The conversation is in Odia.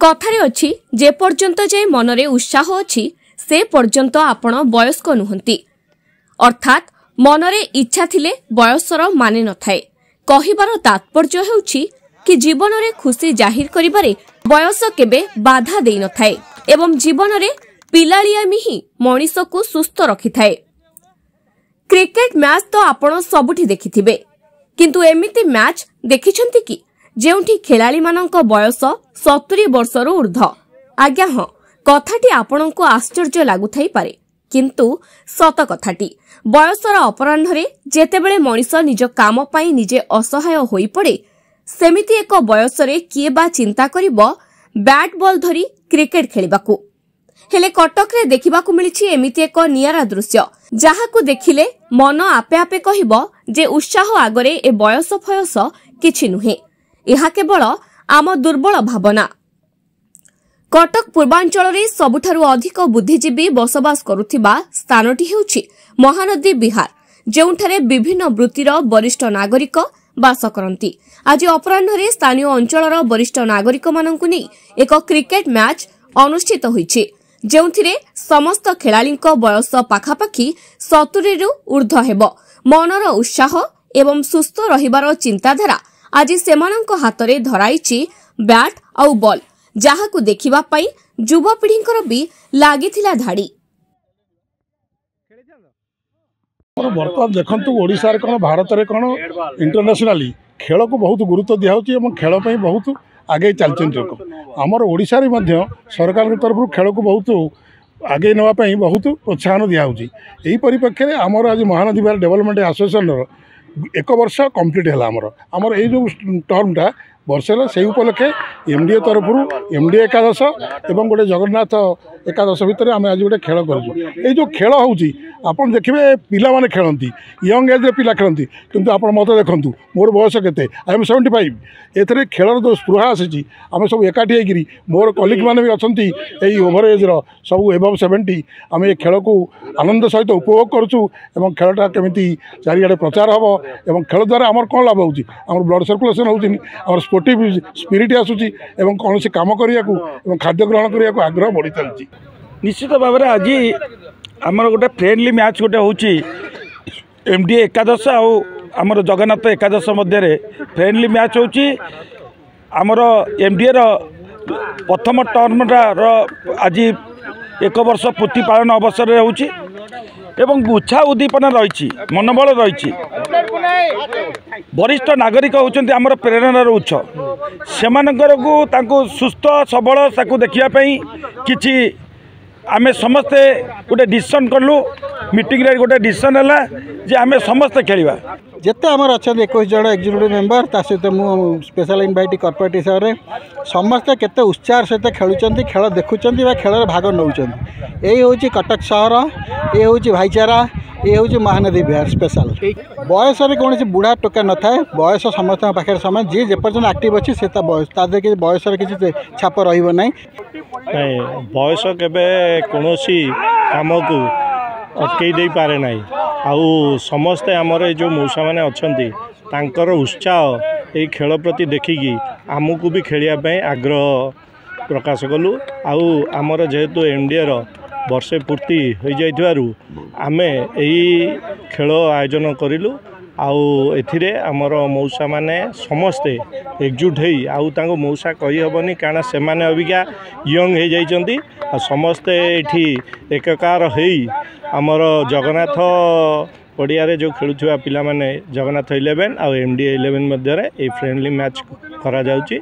କଥାରେ ଅଛି, ଯେ ପର୍ଯ୍ୟନ୍ତ ଯାଏ ମନରେ ଉତ୍ସାହ ଅଛି, ସେ ପର୍ଯ୍ୟନ୍ତ ଆପଣ ବୟସ୍କ ନୁହନ୍ତି। ଅର୍ଥାତ୍ ମନରେ ଇଚ୍ଛା ଥିଲେ ବୟସର ମାନେ ନଥାଏ। କହିବାର ତାତ୍ପର୍ଯ୍ୟ ହେଉଛି କି ଜୀବନରେ ଖୁସି ଜାହିର କରିବାରେ ବୟସ କେବେ ବାଧା ଦେଇନଥାଏ ଏବଂ ଜୀବନରେ ପିଲାଳିଆମି ହିଁ ମଣିଷକୁ ସୁସ୍ଥ ରଖିଥାଏ। କ୍ରିକେଟ ମ୍ୟାଚ୍ ତ ଆପଣ ସବୁଠି ଦେଖିଥିବେ, କିନ୍ତୁ ଏମିତି ମ୍ୟାଚ୍ ଦେଖିଛନ୍ତି କି ଯେଉଁଠି ଖେଳାଳିମାନଙ୍କ ବୟସ 70 ବର୍ଷରୁ ଉର୍ଦ୍ଧ୍ୱ? ଆଜ୍ଞା ହଁ, କଥାଟି ଆପଣଙ୍କୁ ଆଶ୍ଚର୍ଯ୍ୟ ଲାଗୁଥାଇପାରେ, କିନ୍ତୁ ସତ କଥାଟି। ବୟସର ଅପରାହ୍ନରେ ଯେତେବେଳେ ମଣିଷ ନିଜ କାମ ପାଇଁ ନିଜେ ଅସହାୟ ହୋଇପଡ଼େ, ସେମିତି ଏକ ବୟସରେ କିଏ ବା ଚିନ୍ତା କରିବ ବ୍ୟାଟ୍ ବଲ୍ ଧରି କ୍ରିକେଟ ଖେଳିବାକୁ? ହେଲେ କଟକରେ ଦେଖିବାକୁ ମିଳିଛି ଏମିତି ଏକ ନିଆରା ଦୃଶ୍ୟ, ଯାହାକୁ ଦେଖିଲେ ମନ ଆପେ ଆପେ କହିବ ଯେ ଉତ୍ସାହ ଆଗରେ ଏ ବୟସ ଫୟସ କିଛି ନୁହେଁ, ଏହା କେବଳ ଆମ ଦୁର୍ବଳ ଭାବନା। କଟକ ପୂର୍ବାଞ୍ଚଳରେ ସବୁଠାରୁ ଅଧିକ ବୁଦ୍ଧିଜୀବୀ ବସବାସ କରୁଥିବା ସ୍ଥାନଟି ହେଉଛି ମହାନଦୀ ବିହାର, ଯେଉଁଠାରେ ବିଭିନ୍ନ ବୃତ୍ତିର ବରିଷ୍ଠ ନାଗରିକ ବାସ କରନ୍ତି। ଆଜି ଅପରାହ୍ନରେ ସ୍ଥାନୀୟ ଅଞ୍ଚଳର ବରିଷ୍ଠ ନାଗରିକମାନଙ୍କୁ ନେଇ ଏକ କ୍ରିକେଟ ମ୍ୟାଚ୍ ଅନୁଷ୍ଠିତ ହୋଇଛି, ଯେଉଁଥିରେ ସମସ୍ତ ଖେଳାଳିଙ୍କ ବୟସ ପାଖାପାଖି 70ରୁ ଉର୍ଦ୍ଧ୍ୱ ହେବ। ମନର ଉତ୍ସାହ ଏବଂ ସୁସ୍ଥ ରହିବାର ଚିନ୍ତାଧାରା ଆଜି ସେମାନଙ୍କ ହାତରେ ଧରାଇଛି ବ୍ୟାଟ୍ ଆଉ ବଲ୍, ଯାହାକୁ ଦେଖିବା ପାଇଁ ଯୁବପିଢ଼ିଙ୍କର ବି ଲାଗିଥିଲା ଧାଡ଼ି। ବର୍ତ୍ତମାନ ଦେଖନ୍ତୁ, ଓଡ଼ିଶାରେ କ'ଣ, ଭାରତରେ କ'ଣ, ଇଣ୍ଟରନ୍ୟାସନାଲି ଖେଳକୁ ବହୁତ ଗୁରୁତ୍ୱ ଦିଆହେଉଛି ଏବଂ ଖେଳ ପାଇଁ ବହୁତ ଆଗେଇ ଚାଲିଛନ୍ତି ଲୋକ। ଆମର ଓଡ଼ିଶାରେ ମଧ୍ୟ ସରକାରଙ୍କ ତରଫରୁ ଖେଳକୁ ବହୁତ ଆଗେଇ ନେବା ପାଇଁ ବହୁତ ପ୍ରୋତ୍ସାହନ ଦିଆହେଉଛି। ଏହି ପରିପ୍ରେକ୍ଷୀରେ ଆମର ଆଜି ମହାନଦୀ ବିହାର ଡେଭଲପମେଣ୍ଟ ଆସୋସିଏସନର ଏକ ବର୍ଷ କମ୍ପ୍ଲିଟ୍ ହେଲା। ଆମର ଏଇ ଯେଉଁ ଟର୍ମଟା ବର୍ଷ ହେଲା, ସେଇ ଉପଲକ୍ଷେ ଏମ୍ ଡି ଏ ତରଫରୁ ଏମ୍ ଡି ଏକାଦଶ ଏବଂ ଗୋଟେ ଜଗନ୍ନାଥ ଏକାଦଶ ଭିତରେ ଆମେ ଆଜି ଗୋଟେ ଖେଳ କରିଛୁ। ଏଇ ଯେଉଁ ଖେଳ ହେଉଛି, ଆପଣ ଦେଖିବେ ପିଲାମାନେ ଖେଳନ୍ତି, ୟଙ୍ଗ ଏଜ୍ରେ ପିଲା ଖେଳନ୍ତି, କିନ୍ତୁ ଆପଣ ମୋତେ ଦେଖନ୍ତୁ, ମୋର ବୟସ କେତେ? I M 75। ଏଥିରେ ଖେଳର ଯେଉଁ ସ୍ପୃହା ଆସିଛି, ଆମେ ସବୁ ଏକାଠି ହେଇକିରି, ମୋର କଲିଗ୍ ମାନେ ବି ଅଛନ୍ତି ଏଇ ଓଭର ଏଜ୍ର, ସବୁ ଏବଭ୍ 70, ଆମେ ଏ ଖେଳକୁ ଆନନ୍ଦ ସହିତ ଉପଭୋଗ କରୁଛୁ ଏବଂ ଖେଳଟା କେମିତି ଚାରିଆଡ଼େ ପ୍ରଚାର ହେବ ଏବଂ ଖେଳ ଦ୍ୱାରା ଆମର କ'ଣ ଲାଭ ହେଉଛି? ଆମର ବ୍ଲଡ଼ ସର୍କୁଲେସନ୍ ହେଉଛି, ଆମର ସ୍ପୋର୍ଟିଭ୍ ସ୍ପିରିଟ୍ ଆସୁଛି ଏବଂ କୌଣସି କାମ କରିବାକୁ ଏବଂ ଖାଦ୍ୟ ଗ୍ରହଣ କରିବାକୁ ଆଗ୍ରହ ବଢ଼ି ଚାଲିଛି। ନିଶ୍ଚିତ ଭାବରେ ଆଜି ଆମର ଗୋଟେ ଫ୍ରେଣ୍ଡଲି ମ୍ୟାଚ୍ ଗୋଟେ ହେଉଛି, ଏମ୍ ଡି ଏକାଦଶ ଆଉ ଆମର ଜଗନ୍ନାଥ ଏକାଦଶ ମଧ୍ୟରେ ଫ୍ରେଣ୍ଡଲି ମ୍ୟାଚ୍ ହେଉଛି। ଆମର ଏମ୍ ଡି ଏର ପ୍ରଥମ ଟର୍ମଟାର ଆଜି ଏକ ବର୍ଷ ପୂର୍ତ୍ତି ପାଳନ ଅବସରରେ ହେଉଛି ଏବଂ ଉତ୍ସାହ ଉଦ୍ଦୀପନା ରହିଛି, ମନୋବଳ ରହିଛି। ବରିଷ୍ଠ ନାଗରିକ ହେଉଛନ୍ତି ଆମର ପ୍ରେରଣାର ଉତ୍ସ। ସେମାନଙ୍କରକୁ ତାଙ୍କୁ ସୁସ୍ଥ ସବଳ ତାକୁ ଦେଖିବା ପାଇଁ କିଛି ଆମେ ସମସ୍ତେ ଗୋଟେ ଡିସିସନ୍ କଲୁ। ମିଟିଂରେ ଗୋଟେ ଡିସିସନ୍ ହେଲା ଯେ ଆମେ ସମସ୍ତେ ଖେଳିବା। ଯେତେ ଆମର ଅଛନ୍ତି 21 ଜଣ ଏକ୍ଜିକ୍ୟୁଟିଭ୍ ମେମ୍ବର, ତା ସହିତ ମୁଁ ସ୍ପେଶାଲ୍ ଇନଭାଇଟ୍ କର୍ପୋରେଟ୍ ହିସାବରେ, ସମସ୍ତେ କେତେ ଉତ୍ସାହର ସହିତ ଖେଳୁଛନ୍ତି, ଖେଳ ଦେଖୁଛନ୍ତି ବା ଖେଳରେ ଭାଗ ନେଉଛନ୍ତି। ଏଇ ହେଉଛି କଟକ ସହର, ଏ ହେଉଛି ଭାଇଚାରା, ଏ ହେଉଛି ମହାନଦୀ ବିହାର ସ୍ପେଶାଲ। ବୟସରେ କୌଣସି ବୁଢ଼ା ଟୋକା ନଥାଏ, ବୟସ ସମସ୍ତଙ୍କ ପାଖରେ ସମାନ। ଯିଏ ଯେପର୍ଯ୍ୟନ୍ତ ଆକ୍ଟିଭ୍ ଅଛି, ସେ ତା ବୟସ ତା ଦେହରେ କିଛି ବୟସର କିଛି ଛାପ ରହିବ ନାହିଁ। ନାଇଁ, ବୟସ କେବେ କୌଣସି କାମକୁ ଅଟକେଇ ଦେଇପାରେ ନାହିଁ। ଆଉ ସମସ୍ତେ ଆମର ଏଇ ଯେଉଁ ମଉସାମାନେ ଅଛନ୍ତି, ତାଙ୍କର ଉତ୍ସାହ ଏଇ ଖେଳ ପ୍ରତି ଦେଖିକି ଆମକୁ ବି ଖେଳିବା ପାଇଁ ଆଗ୍ରହ ପ୍ରକାଶ କଲୁ। ଆଉ ଆମର ଯେହେତୁ ଏମ୍ ଡି ଏର ବର୍ଷେ ପୂର୍ତ୍ତି ହୋଇଯାଇଥିବାରୁ ଆମେ ଏଇ ଖେଳ ଆୟୋଜନ କରିଲୁ। ଆଉ ଏଥିରେ ଆମର ମଉସାମାନେ ସମସ୍ତେ ଏକଜୁଟ ହେଇ, ଆଉ ତାଙ୍କୁ ମଉସା କହିହେବନି, କାରଣ ସେମାନେ ଅବିକା ୟଙ୍ଗ ହେଇଯାଇଛନ୍ତି, ଆଉ ସମସ୍ତେ ଏଇଠି ଏକକାର ହେଇ ଆମର ଜଗନ୍ନାଥ ପଡ଼ିଆରେ ଯେଉଁ ଖେଳୁଥିବା ପିଲାମାନେ, ଜଗନ୍ନାଥ 11 ଆଉ ଏମ୍ ଡି 11 ମଧ୍ୟରେ ଏଇ ଫ୍ରେଣ୍ଡଲି ମ୍ୟାଚ୍ କରାଯାଉଛି।